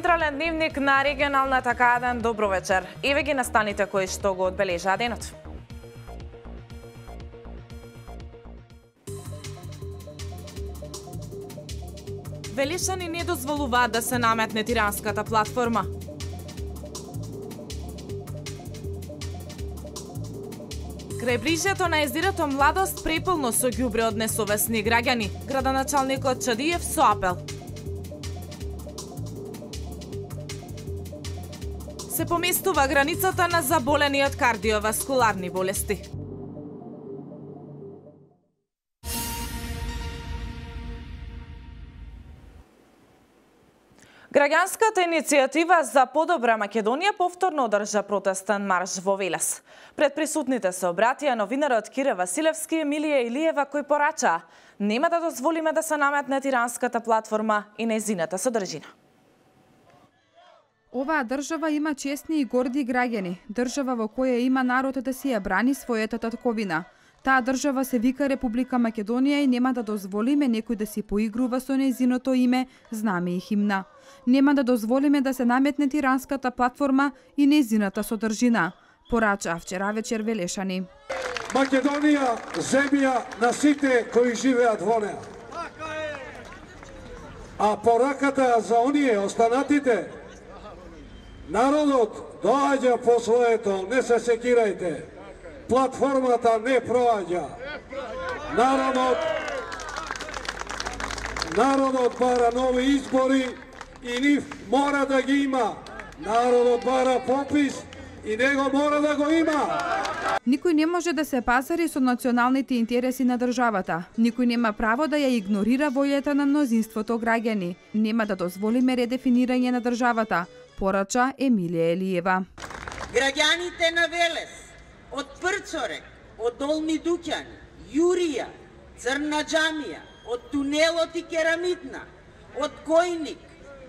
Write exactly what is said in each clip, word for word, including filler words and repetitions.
централен дневник на регионалната К еден. Добро вечер. Еве ги настаните кои што го одбележаа денот. Велишани не дозволуваат да се наметне тиранската платформа. Крајбрижјето на езерото Младост преполно со ѓубре од несовесни граѓани. Градоначалникот Чадиев со апел. Се поместува границата на заболени од кардиоваскуларни болести. Граѓанската иницијатива за подобра Македонија повторно одржа протестен марш во Велес. Пред присутните се обратија новинарот Кире Василевски и Емилија Илиева кој порачаа: нема да дозволиме да се наметне тиранската платформа и нејзината содржина. Оваа држава има честни и горди граѓани, држава во која има народ да си ја брани својата татковина. Таа држава се вика Република Македонија и нема да дозволиме некој да си поигрува со нејзиното име, знаме и химна. Нема да дозволиме да се наметне тиранската платформа и нејзината содржина, порача вчера вечер Велешани. Македонија земја на сите кои живеат во неа. А пораката за оние останатите, народот доаѓа по своето, не се секирајте. Платформата не проаѓа. Народот Народот бара нови избори и нив мора да ги има. Народот бара попис и него мора да го има. Никој не може да се пазари со националните интереси на државата. Никој нема право да ја игнорира волјата на мнозинството граѓани. Нема да дозволиме редефинирање на државата, порача Емилија Елиева. Граѓаните на Велес, од Прцорек, од Долни Дуќани, Јурија, Црна Џамија, од Тунелот и Керамидна, од Којник,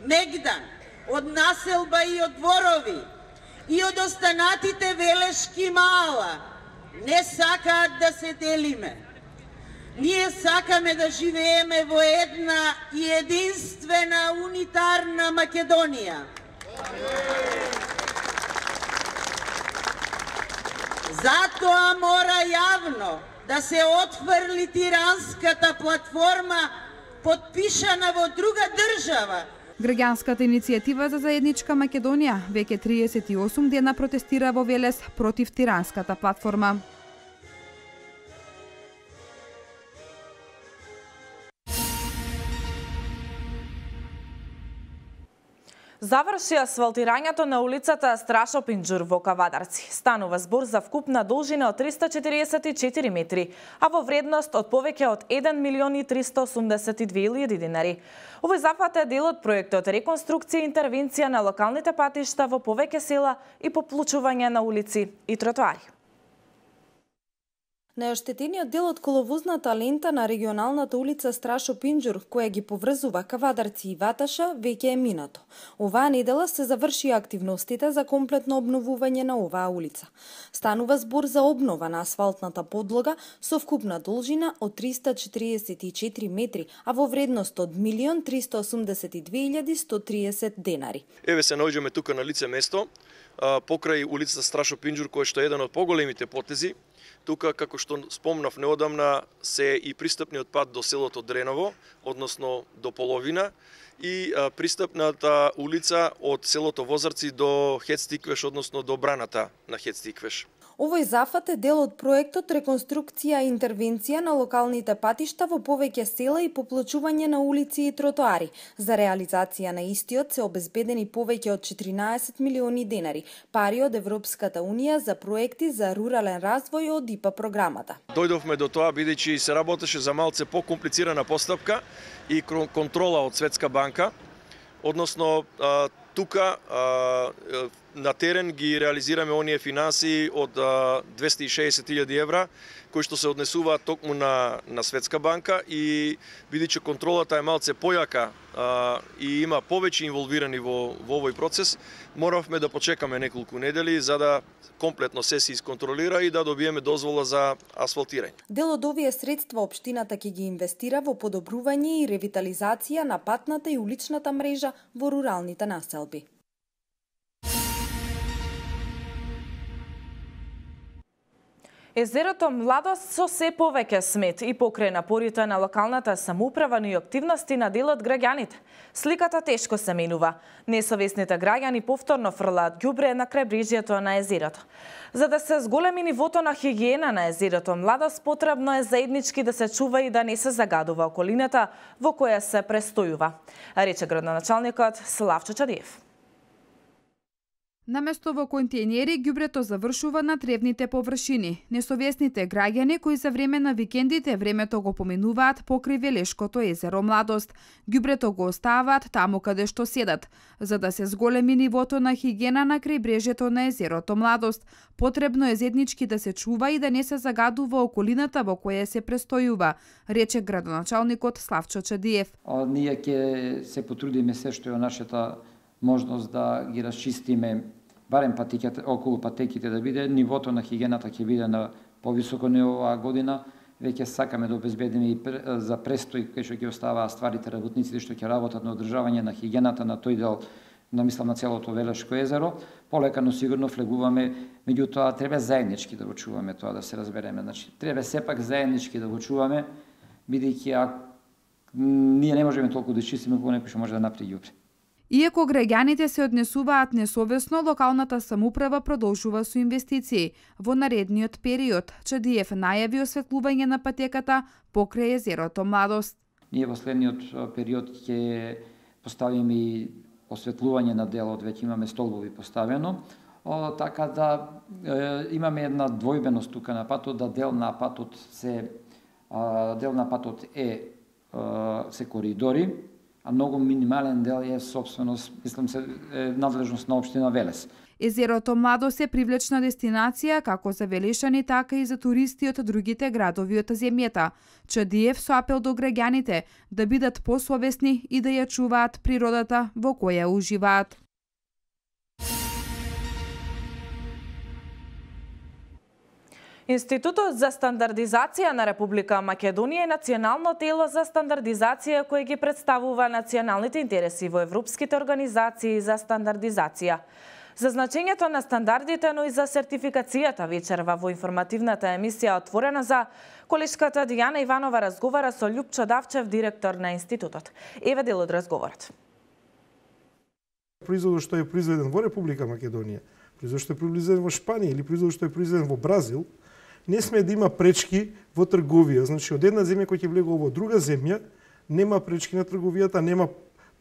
Мегдан, од Населба и од Дворови и од останатите Велешки мала не сакаат да се делиме. Ние сакаме да живееме во една и единствена унитарна Македонија. Затоа мора јавно да се отфрли тиранската платформа подпишана во друга држава. Граѓанската иницијатива за заедничка Македонија веќе триесет и осум дена протестира во Велес против тиранската платформа. Заврши асфалтирањето на улицата Страшо Пинџур во Кавадарци. Станува збор за вкупна должина од триста четириесет и четири метри, а во вредност од повеќе од еден милион и триста осумдесет и две илјади динари. Овој зафат е дел од проектот реконструкција и интервенција на локалните патишта во повеќе села и поплучување на улици и тротоари. Најоштетениот дел од коловозната лента на регионалната улица Страшо Пинџур, која ги поврзува Кавадарци и Ваташа, веќе е минато. Оваа недела се завршија активностите за комплетно обновување на оваа улица. Станува збор за обнова на асфалтната подлога со вкупна должина од триста четириесет и четири метри, а во вредност од милион триста осумдесет и две илјади сто триесет денари. Еве се наоѓаме тука на лице место, покрај улицата Страшо Пинџур, кој што е еден од поголемите потези. Тука, како што спомнав неодамна, се и пристапниот пат до селото Дреново, односно до половина, и а, пристапната улица од селото Возарци до Хецтиквеш, односно до браната на Хецтиквеш. Овој зафат е дел од проектот реконструкција и интервенција на локалните патишта во повеќе села и поплачување на улици и тротоари. За реализација на истиот се обезбедени повеќе од четиринаесет милиони денари, пари од Европската унија за проекти за рурален развој од ИПА програмата. Дојдовме до тоа бидејќи се работеше за малце покомплицирана постапка и контрола од Светска банка, односно тука на терен ги реализираме оние финанси од двесте и шеесет илјади евра, кои што се однесуваат токму на, на Светска банка и бидејќи контролата е малце појака а, и има повеќе инволвирани во, во овој процес, моравме да почекаме неколку недели за да комплетно се се исконтролира и да добиеме дозвола за асфалтирање. Дел од овие средства општината ќе ги инвестира во подобрување и ревитализација на патната и уличната мрежа во руралните населби. Езерото Младост со се повеќе смет и покрај напорите на локалната самоуправа и активности на дел од граѓаните. Сликата тешко се менува. Несовесните граѓани повторно фрлаат ѓубре на крајбрежјето на езерото. За да се зголеми нивото на хигиена на езерото Младост, потребно е заеднички да се чува и да не се загадува околината во која се престојува, рече градоначалникот Славчо Чадиев. Наместо во контејнери, ѓубрето завршува на тревните површини. Несовесните граѓани кои за време на викендите времето го поминуваат покрај Велешкото езеро Младост. Ѓубрето го оставаат таму каде што седат. За да се зголеми нивото на хигиена на крајбрежјето на езерото Младост, потребно е заеднички да се чува и да не се загадува околината во која се престојува, рече градоначалникот Славчо Чадиев. А, ние ќе се потрудиме се што е нашата можност да ги расчистиме барем патеките, околу патеките да биде, нивото на хигиената ќе биде на повисоко ниво оваа година. Веќе сакаме да обезбедиме и за престој кај што ќе оставаат стварите работниците што ќе работат на одржавање на хигиената на тој дел, на мислам на целото Велешко езеро. Полека, но сигурно влегуваме, меѓутоа треба заеднички да го чуваме тоа, да се разбереме. Значи, треба сепак заеднички да го чуваме, бидејќи ако ние не можеме толку да чистиме кога некој што може да направи ѓубре. Иако граѓаните се однесуваат несовесно, локалната самоуправа продолжува со инвестиции. Во наредниот период, Чадиев најави осветлување на патеката покрај езерото Младост. Ние во следниот период ќе поставиме и осветлување на делот, веќе имаме столбови поставено, о, така да е, имаме една двојбеност тука на патот, да дел на патот се а, дел на патот е а, се коридори, а многу минимален дел е собственост, мислам се, е надлежност на општина Велес. Езерото Младост е привлечна дестинација како за велешани, така и за туристи од другите градови од земјата. Чадиев со апел до граѓаните да бидат посовесни и да ја чуваат природата во која уживаат. Институтот за стандардизација на Република Македонија е национално тело за стандардизација кој ги представува националните интереси во европските организации за стандардизација. За значењето на стандардите, но и за сертификацијата вечерва во информативната емисија Отворена за колешката Дијана Иванова разговара со Љупчо Давчев, директор на институтот. Еве дел од разговорот. Производот што е произведен во Република Македонија, производот што е произведен во Шпанија или производот што е произведен во Бразил, не сме да има пречки во трговија. Значи, од една земја која ќе влегува во друга земја, нема пречки на трговијата, нема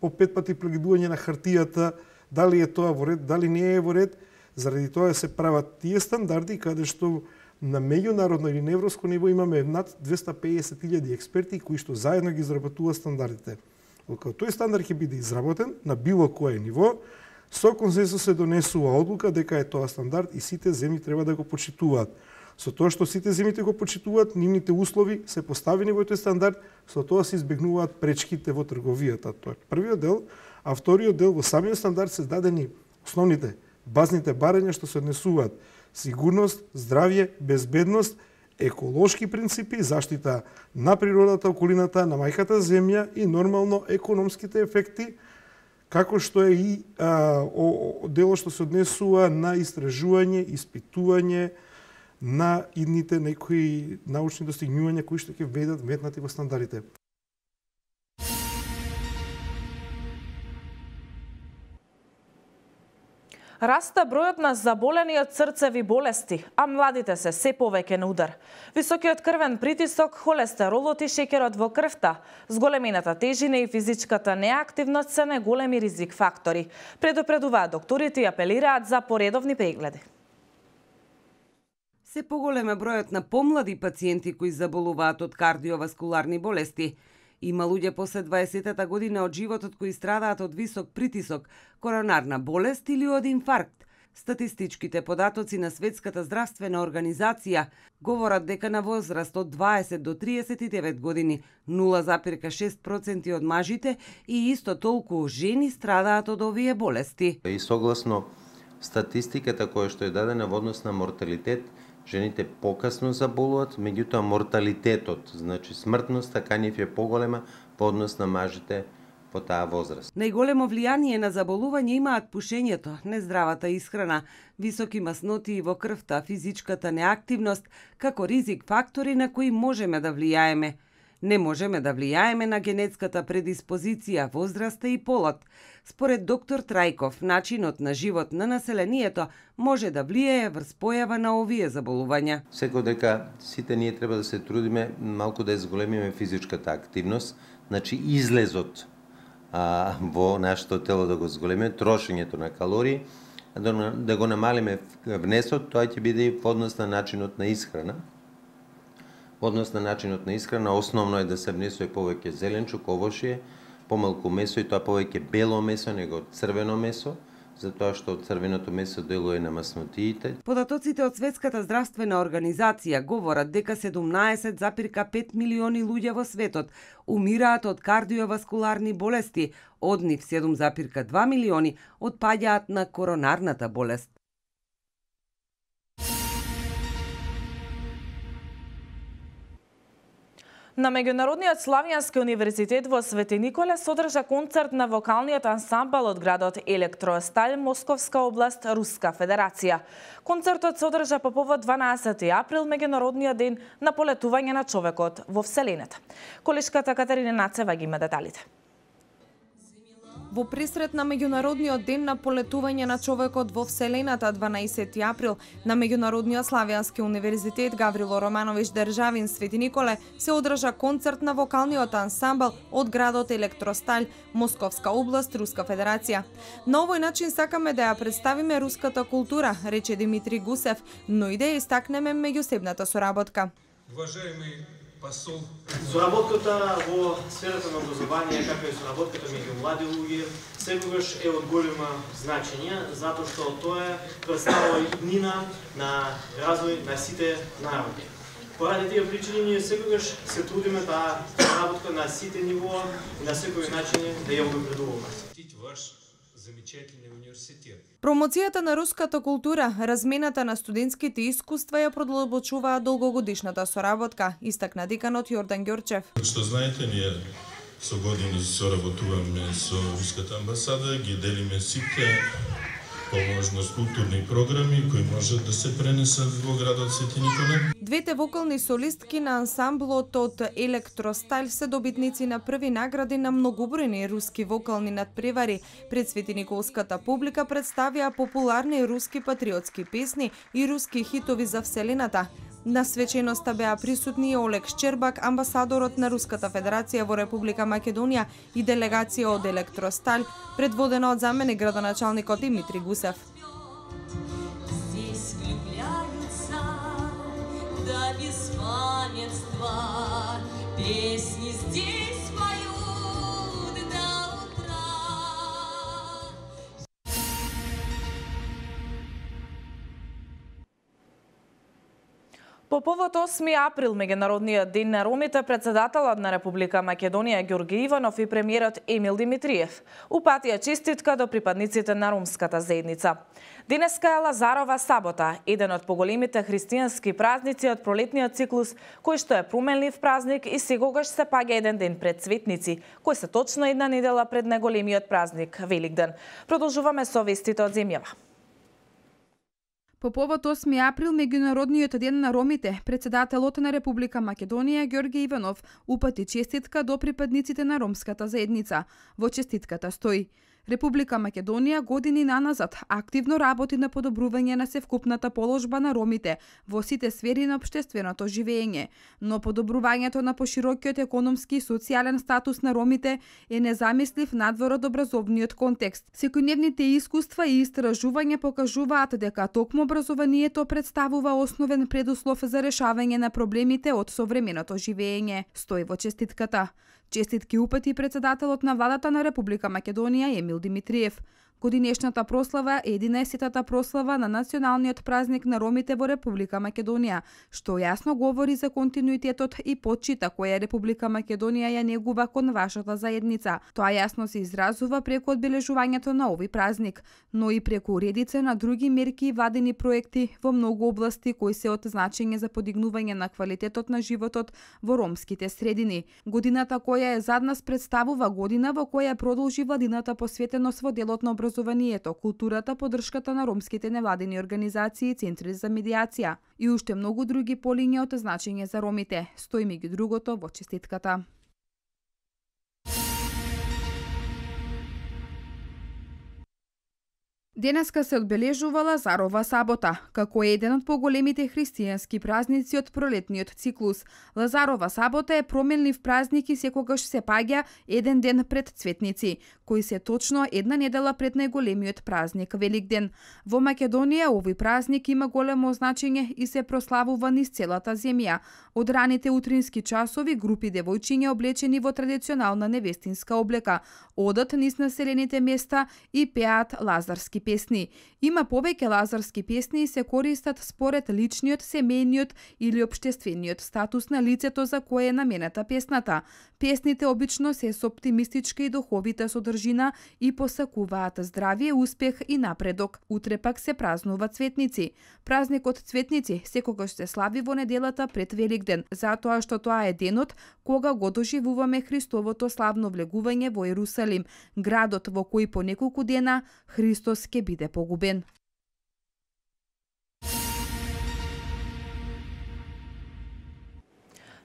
по пет пати прегледување на хартијата, дали е тоа во ред, дали не е во ред. Заради тоа се прават тие стандарди каде што на меѓународно или на европско ниво имаме над двесте и педесет илјади експерти кои што заедно ги изработуваат стандардите. Кога тој стандард ќе биде изработен на било кое ниво, со консенсус се донесува одлука дека е тоа стандард и сите земји треба да го почитуваат. Со тоа што сите земјите го почитуваат, нивните услови се поставени во тој стандард, со тоа се избегнуваат пречките во трговијата. Тоа е првиот дел, а вториот дел во самиот стандард се дадени основните базните барања што се однесуваат сигурност, здравје, безбедност, еколошки принципи, заштита на природата, околината, на мајката земја и нормално економските ефекти, како што е и а, о, о, дело што се однесува на истражување, испитување на идните некои научни достигнувања кои што ќе ведат метнати во стандардите. Раста бројот на заболени од срцеви болести, а младите се се повеќе на удар. Високиот крвен притисок, холестеролот и шеќерот во крвта, зголемената тежина и физичката неактивност се најголеми ризик фактори. Предупредуваат докторите и апелираат за поредовни прегледи. Се поголем е бројот на помлади пациенти кои заболуваат од кардиоваскуларни болести. Има луѓе после дваесетата година од животот кои страдаат од висок притисок, коронарна болест или од инфаркт. Статистичките податоци на Светската здравствена организација говорат дека на возраст од дваесет до триесет и девет години нула зарез шест проценти од мажите и исто толку жени страдаат од овие болести. И согласно статистиката која што е дадена во однос на морталитет, жените покасно заболуваат, меѓутоа морталитетот, значи смртноста кај нив е поголема во однос на мажите по таа возраст. Најголемо влијание на заболување имаат пушењето, нездравата исхрана, високи масноти во крвта, физичката неактивност, како ризик фактори на кои можеме да влијаеме. Не можеме да влијаеме на генетската предиспозиција, возраста и полот. Според доктор Трајков, начинот на живот на населението може да влијае врз појава на овие заболувања. Секој дека сите ние треба да се трудиме малку да зголемиме физичката активност, значи излезот а, во нашето тело да го зголемиме, трошењето на калории, да, да го намалиме внесот, тоа ќе биде и во однос на начинот на исхрана. Во однос на начинот на исхрана, основно е да се внесува повеќе зеленчук, овошје, помалку месо и тоа повеќе бело месо него црвено месо, затоа што црвеното месо делува на маснотиите. Податоците од Светската здравствена организација говорат дека седумнаесет зарез пет милиони луѓе во светот умираат од кардиоваскуларни болести, од нив седум зарез два милиони отпаѓаат на коронарната болест. На Меѓународниот славјански универзитет во Свети Николе се одржа концерт на вокалниот ансамбл од градот Електросталь, Московска област, Руска Федерација. Концертот се одржа по повод дванаесети април, Меѓународниот ден на полетување на човекот во Вселената. Колешката Катерина Нацева ги има деталите. Во пресрет на Меѓународниот ден на полетување на човекот во Вселената дванаесети април на Меѓународниот славјански универзитет Гаврило Романович Државин Свети Николе се одржа концерт на вокалниот ансамбл од градот Електросталь, Московска област, Руска Федерација. На овој начин сакаме да ја представиме руската култура, рече Димитри Гусев, но и да ја истакнеме меѓусебната соработка. Уважаеми посол, соработката во сферата на образование, како и соработката меѓу млади луѓе, секогаш е од големо значење, затоа што тоа представува иднина на развој на сите народи. Поради тие причини ние секогаш се трудиме таа соработка на сите нивоа и на секој начин да ја обоградуваме. Ваш замечателен университет. Промоцијата на руската култура, размената на студентските искуства ја продлабочуваа долгогодишната соработка, истакна деканот Јордан Ѓорчев. Што знаете, ние со години соработуваме со руската амбасада, ги делиме сите по можност културни програми кои можат да се пренесат во градот Свети Николе. Двете вокални солистки на ансамблот од Електросталь се добитници на први награди на многобројни руски вокални надпревари. Пред светиниколската публика представија популарни руски патриотски песни и руски хитови за Вселената. На свеченоста беа присутни Олег Шчербак, амбасадорот на Руската Федерација во Република Македонија и делегација од Електросталь, предводена од заменик градоначалникот Димитри Гусев. По повод осми април, Меѓународниот ден на ромите, председателот на Република Македонија Ѓорги Иванов и премиерот Емил Димитриев упатија честитка до припадниците на ромската заедница. Денеска е Лазарова сабота, еден од поголемите христијански празници од пролетниот циклус, кој што е променлив празник и секогаш се паѓа еден ден пред светници, кој се точно една недела пред најголемиот празник Великден. Продолжуваме со вестите од земјава. По повод осми април, Меѓународниот ден на ромите, председателот на Република Македонија Ѓорги Иванов упати честитка до припадниците на ромската заедница. Во честитката стои: Република Македонија години наназад активно работи на подобрување на севкупната положба на ромите во сите сфери на општественото живење, но подобрувањето на поширокиот економски и социјален статус на ромите е незамислив надвор од образовниот контекст. Секојдневните искуства и истражувања покажуваат дека токму образованието представува основен предуслов за решавање на проблемите од современото живење, стои во честитката. Честитки упати председателот на владата на Република Македонија Емил Димитриев. Годинешната прослава е единаесеттата прослава на националниот празник на ромите во Република Македонија, што јасно говори за континуитетот и почита која Република Македонија ја негува кон вашата заедница. Тоа јасно се изразува преку одбележувањето на овој празник, но и преку редица на други мерки и владени проекти во многу области кои се од значење за подигнување на квалитетот на животот во ромските средини. Годината која е зад нас представува година во која продолжи владината посветеност во делот на образованието, културата, поддршката на ромските невладени организации и центри за медиација и уште многу други полиња од значење за ромите. Стои меѓу другото во честитката. Денеска се одбележува Лазарова сабота, како еден од поголемите христијански празници од пролетниот циклус. Лазарова сабота е променлив празник и секогаш се паѓа еден ден пред Цветници, кои се точно една недела пред најголемиот празник Великден. Во Македонија овој празник има големо значење и се прославува низ целата земја. Од раните утрински часови групи девојчиња облечени во традиционална невестинска облека одат низ населените места и пеат лазарски песни. Има повеќе лазарски песни и се користат според личниот, семејниот или општествениот статус на лицето за кое е наменета песната. Песните обично се со оптимистичка и духовита содржина и посакуваат здравие, успех и напредок. Утре пак се празнува Цветници. Празникот Цветници секогаш се слави во неделата пред Великден, затоа што тоа е денот кога го доживуваме Христовото славно влегување во Ерусалим, градот во кој по неколку дена Христос ќе биде погубен.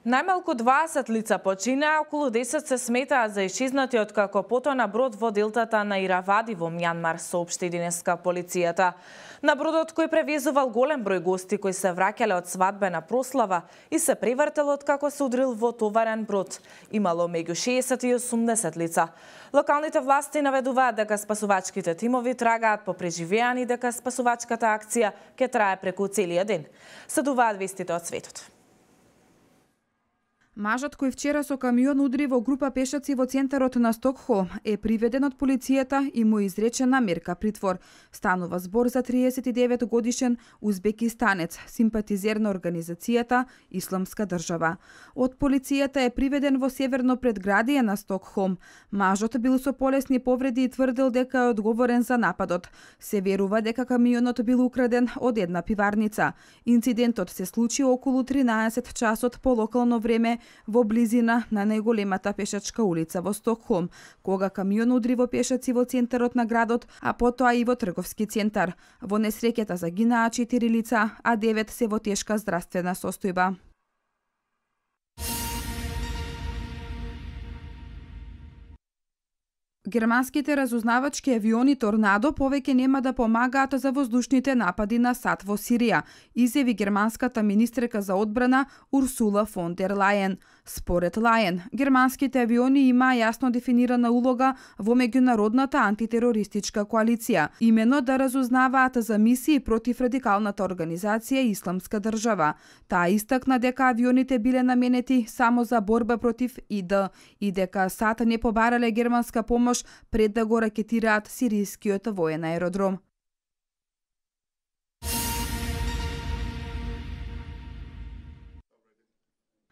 Најмалку дваесет лица починаа, околу десет се сметаат за исчезнати откако потона брод во делтата на Иравади во Мјанмар, соопшти денеска полицијата. На бродот кој превезувал голем број гости кои се враќале од свадбена прослава и се превртел откако се удрил во товарен брод. Имало меѓу шеесет и осумдесет лица. Локалните власти наведуваат дека спасувачките тимови трагаат по преживеани, дека спасувачката акција ќе трае преку целиот ден. Следуваат вестите од светот. Мажот кој вчера со камион удри во група пешаци во центарот на Стокхолм е приведен од полицијата и му изречена мерка притвор. Станува збор за триесет и девет годишен узбекистанец, симпатизер на организацијата Исламска држава. Од полицијата е приведен во северно предградие на Стокхолм. Мажот бил со полесни повреди и тврдел дека е одговорен за нападот. Се верува дека камионот бил украден од една пиварница. Инцидентот се случи околу тринаесет часот по локално време во близина на најголемата пешачка улица во Стокхолм, кога камион удри во пешаци во центарот на градот, а потоа и во трговски центар. Во несреќата загинаа четири лица, а девет се во тешка здравствена состојба. Германските разузнавачки авиони Торнадо повеќе нема да помагаат за воздушните напади на САД во Сирија, изјави германската министерка за одбрана Урсула фон дер Лајен. Според Лајен, германските авиони имаа јасно дефинирана улога во меѓународната антитерористичка коалиција, имено да разузнаваат за мисии против радикалната организација Исламска држава. Таа истакна дека авионите биле наменети само за борба против ИД и дека САД не побарале германска помош пред да го ракетираат сирискиот воен аеродром.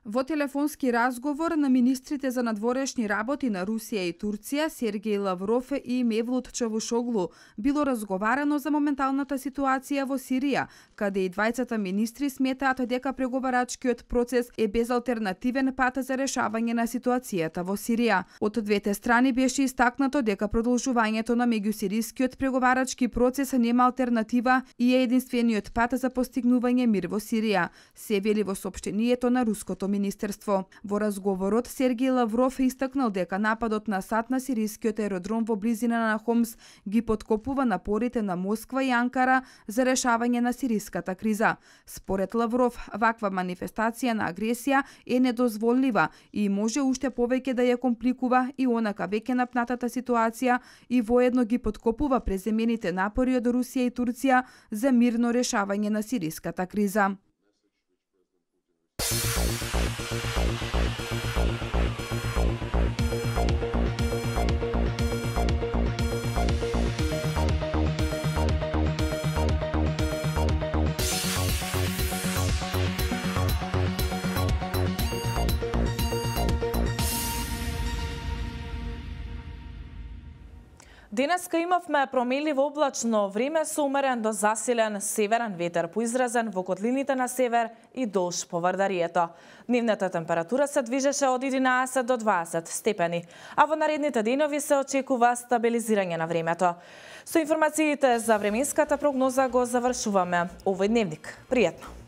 Во телефонски разговор на министрите за надворешни работи на Русија и Турција, Сергеј Лавров и Мевлут Чавушоглу, било разговарано за моменталната ситуација во Сирија, каде и двајцата министри сметаат дека преговарачкиот процес е безалтернативен пат за решавање на ситуацијата во Сирија. Од двете страни беше истакнато дека продолжувањето на меѓусирискиот преговарачки процес нема алтернатива и е единствениот пат за постигнување мир во Сирија, се вели во соопштението на руското министерство. Во разговорот Сергеј Лавров истакнал дека нападот на САД на сирискиот аеродром во близина на Хомс ги подкопува напорите на Москва и Анкара за решавање на сириската криза. Според Лавров, ваква манифестација на агресија е недозволлива и може уште повеќе да ја компликува и онака веќе напнатата ситуација и воедно ги подкопува преземените напори од Русија и Турција за мирно решавање на сириската криза. Денеска имавме промеливо облачно време со умерен до засилен северен ветер, поизразен во котлините на север и долж по Вардарието. Дневната температура се движеше од единаесет до дваесет степени, а во наредните денови се очекува стабилизирање на времето. Со информациите за временската прогноза го завршуваме овој дневник. Пријатно!